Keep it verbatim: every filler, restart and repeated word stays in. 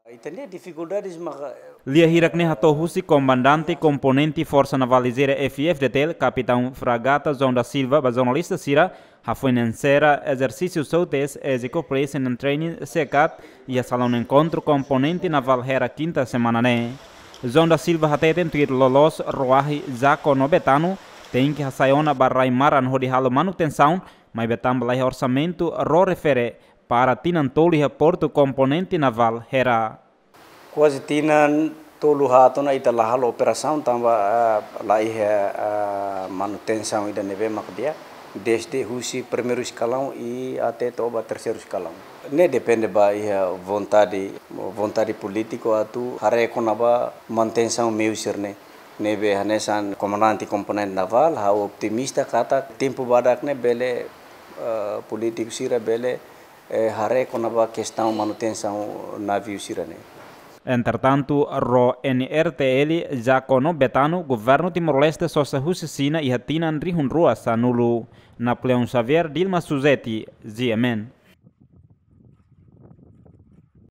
Ita-nia difikuldades maka. Lia hirak ne'e hato'o husi komandante komponente Forsa Naval Lijeira F-FDTL, Kapitaun Fragata João da Silva, ba jornalista sira, hafoin sera ezersísiu SOTUS, Easy Cooperation and Training, SECAT, iha salaun enkontru komponente navál Hera kinta semana ne'e. João da Silva hateten tuir loloos Roahi Jaco no Betano, tenke hasai ona ba rai-maran hodi halo manutensaun, maibé tanba laiha orsamentu, ró refere para tinan tolu iha portu komponente navál Hera. Kuaze tinan tolu haat ona ita la halo operasaun tanba, ah, laiha, ah, manutensaun ida ne'ebé mak di'ak, desde husi primeiru eskalaun i até to'o ba terseiru eskalaun. Ne'e depende ba iha vontade, vontade polítiku atu haree kona-ba manutensaun meiu sira-ne'e. Ne'ebé hanesan komandante komponente navál, ha'u optimista katak tempu badak ne'e bele, eh, polítiku sira bele, eh, haree kona-ba kestaun manutensaun naviu sira-ne'e. Entretantu, ró N R T L Jaco no Betano, governu Timor-Leste sosa husi Xina iha tinan rihun rua sanulu. Napoleão Xavier, Dilma Suzeti, G M N.